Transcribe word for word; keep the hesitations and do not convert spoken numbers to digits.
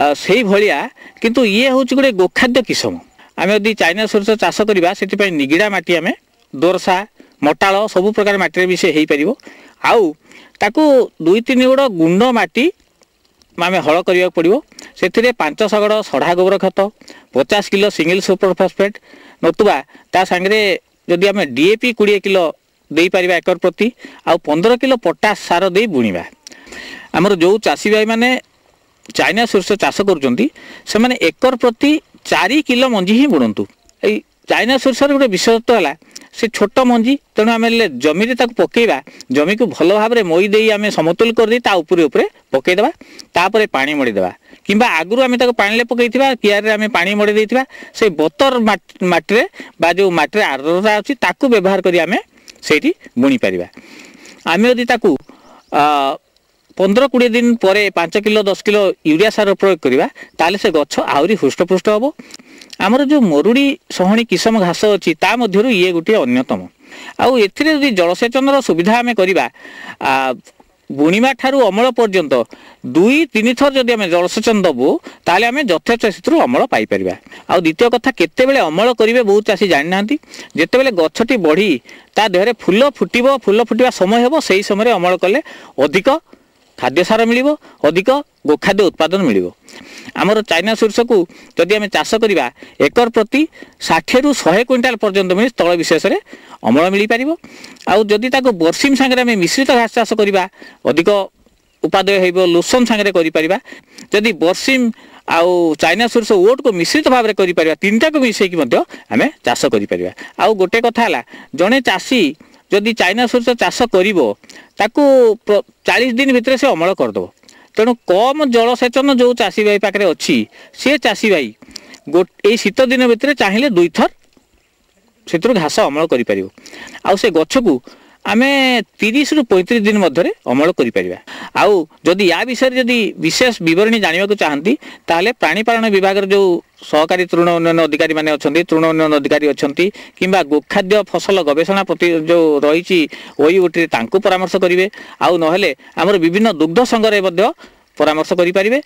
ସେଇଭଳିଆ, କିନ୍ତୁ ଇଏ ହେଉଛି ଗୋଟେ ଗୋଖାଦ୍ୟ କିସମ। ଆମେ ଯଦି ଚାଇନା ସୋରିଷ ଚାଷ କରିବା, ସେଥିପାଇଁ ନିଗିଡ଼ା ମାଟି, ଆମେ ଦୋରସା, ମଟାଳ ସବୁ ପ୍ରକାର ମାଟିରେ ବି ସେ ହେଇପାରିବ। ଆଉ ତାକୁ ଦୁଇ ତିନି ଗୁଡ଼ ଗୁଣ୍ଡ ମାଟି ଆମେ ହଳ କରିବାକୁ ପଡ଼ିବ। ସେଥିରେ ପାଞ୍ଚ ଶଗଡ଼ ସଢ଼ା ଗୋବର ଖତ, ପଚାଶ କିଲୋ ସିଙ୍ଗଲ ସୁପର ଫସ୍ଫେଟ୍, ନତୁବା ତା ସାଙ୍ଗରେ ଯଦି ଆମେ ଡି ଏ ପି କୋଡ଼ିଏ କିଲୋ ଦେଇପାରିବା ଏକର ପ୍ରତି, ଆଉ ପନ୍ଦର କିଲୋ ପଟାସ ସାର ଦେଇ ବୁଣିବା। ଆମର ଯେଉଁ ଚାଷୀ ଭାଇମାନେ ଚାଇନା ସୋରିଷ ଚାଷ କରୁଛନ୍ତି, ସେମାନେ ଏକର ପ୍ରତି ଚାରି କିଲୋ ମଞ୍ଜି ହିଁ ବୁଣନ୍ତୁ। ଏଇ ଚାଇନା ସୋରିଷର ଗୋଟେ ବିଶେଷତ୍ୱ ହେଲା ସେ ଛୋଟ ମଞ୍ଜି, ତେଣୁ ଆମେ ଜମିରେ ତାକୁ ପକେଇବା, ଜମିକୁ ଭଲ ଭାବରେ ମଇ ଦେଇ ଆମେ ସମତୁଲ କରିଦେଇ ତା ଉପରେ ଉପରେ ପକେଇଦେବା, ତାପରେ ପାଣି ମଡ଼ିଦେବା, କିମ୍ବା ଆଗରୁ ଆମେ ତାକୁ ପାଣିରେ ପକେଇଥିବା, କିଆରରେ ଆମେ ପାଣି ମଡ଼େଇ ଦେଇଥିବା, ସେଇ ବତର ମାଟିରେ ବା ଯେଉଁ ମାଟିରେ ଆର୍ଦ୍ରତା ଅଛି ତାକୁ ବ୍ୟବହାର କରି ଆମେ ସେଇଠି ବୁଣିପାରିବା। ଆମେ ଯଦି ତାକୁ ପନ୍ଦର କୋଡ଼ିଏ ଦିନ ପରେ ପାଞ୍ଚ କିଲୋ ଦଶ କିଲୋ ୟୁରିଆ ସାର ପ୍ରୟୋଗ କରିବା, ତାହେଲେ ସେ ଗଛ ଆହୁରି ହୃଷ୍ଟପୃଷ୍ଟ ହେବ। ଆମର ଯେଉଁ ମରୁଡ଼ି ସହଣୀ କିସମ ଘାସ ଅଛି, ତା ମଧ୍ୟରୁ ଇଏ ଗୋଟିଏ ଅନ୍ୟତମ। ଆଉ ଏଥିରେ ଯଦି ଜଳସେଚନର ସୁବିଧା ଆମେ କରିବା, ବୁଣିବା ଠାରୁ ଅମଳ ପର୍ଯ୍ୟନ୍ତ ଦୁଇ ତିନି ଥର ଯଦି ଆମେ ଜଳସେଚନ ଦେବୁ, ତାହେଲେ ଆମେ ଯଥେଷ୍ଟ ସେଥିରୁ ଅମଳ ପାଇପାରିବା। ଆଉ ଦ୍ୱିତୀୟ କଥା, କେତେବେଳେ ଅମଳ କରିବେ ବହୁତ ଚାଷୀ ଜାଣିନାହାନ୍ତି। ଯେତେବେଳେ ଗଛଟି ବଢ଼ି ତା ଦେହରେ ଫୁଲ ଫୁଟିବ, ଫୁଲ ଫୁଟିବା ସମୟ ହେବ, ସେହି ସମୟରେ ଅମଳ କଲେ ଅଧିକ ଖାଦ୍ୟ ସାର ମିଳିବ, ଅଧିକ ଗୋଖାଦ୍ୟ ଉତ୍ପାଦନ ମିଳିବ। ଆମର ଚାଇନା ସୋରିଷକୁ ଯଦି ଆମେ ଚାଷ କରିବା, ଏକର ପ୍ରତି ଷାଠିଏରୁ ଶହେ କୁଇଣ୍ଟାଲ ପର୍ଯ୍ୟନ୍ତ ମିଳି ସ୍ଥଳ ବିଶେଷରେ ଅମଳ ମିଳିପାରିବ। ଆଉ ଯଦି ତାକୁ ବର୍ଷିମ ସାଙ୍ଗରେ ଆମେ ମିଶ୍ରିତ ଘାସ ଚାଷ କରିବା, ଅଧିକ ଉପାଦେୟ ହେବ। ଲୋସନ ସାଙ୍ଗରେ କରିପାରିବା। ଯଦି ବର୍ଷିମ ଆଉ ଚାଇନା ସୋରିଷ ଓଟକୁ ମିଶ୍ରିତ ଭାବରେ କରିପାରିବା, ତିନିଟାକୁ ମିଶାଇକି ମଧ୍ୟ ଆମେ ଚାଷ କରିପାରିବା। ଆଉ ଗୋଟେ କଥା ହେଲା, ଜଣେ ଚାଷୀ ଯଦି ଚାଇନା ସୋରିଷ ଚାଷ କରିବ, ତାକୁ ଚାଳିଶ ଦିନ ଭିତରେ ସେ ଅମଳ କରିଦେବ। ତେଣୁ କମ୍ ଜଳସେଚନ ଯେଉଁ ଚାଷୀ ଭାଇ ପାଖରେ ଅଛି, ସେ ଚାଷୀ ଭାଇ ଏଇ ଶୀତ ଦିନ ଭିତରେ ଚାହିଁଲେ ଦୁଇଥର ସେଥିରୁ ଘାସ ଅମଳ କରିପାରିବ। ଆଉ ସେ ଗଛକୁ ଆମେ ତିରିଶରୁ ପଇଁତିରିଶ ଦିନ ମଧ୍ୟରେ ଅମଳ କରିପାରିବା। ଆଉ ଯଦି ୟା ବିଷୟରେ ଯଦି ବିଶେଷ ବିବରଣୀ ଜାଣିବାକୁ ଚାହାନ୍ତି, ତାହେଲେ ପ୍ରାଣୀପାଳନ ବିଭାଗର ଯେଉଁ ସହକାରୀ ତୃଣ ଉନ୍ନୟନ ଅଧିକାରୀମାନେ ଅଛନ୍ତି, ତୃଣ ଉନ୍ନୟନ ଅଧିକାରୀ ଅଛନ୍ତି, କିମ୍ବା ଗୋଖାଦ୍ୟ ଫସଲ ଗବେଷଣା ପ୍ରତି ଯେଉଁ ରହିଛି ଓୟୁଟିରେ, ତାଙ୍କୁ ପରାମର୍ଶ କରିବେ। ଆଉ ନହେଲେ ଆମର ବିଭିନ୍ନ ଦୁଗ୍ଧ ସଂଘରେ ମଧ୍ୟ ପରାମର୍ଶ କରିପାରିବେ।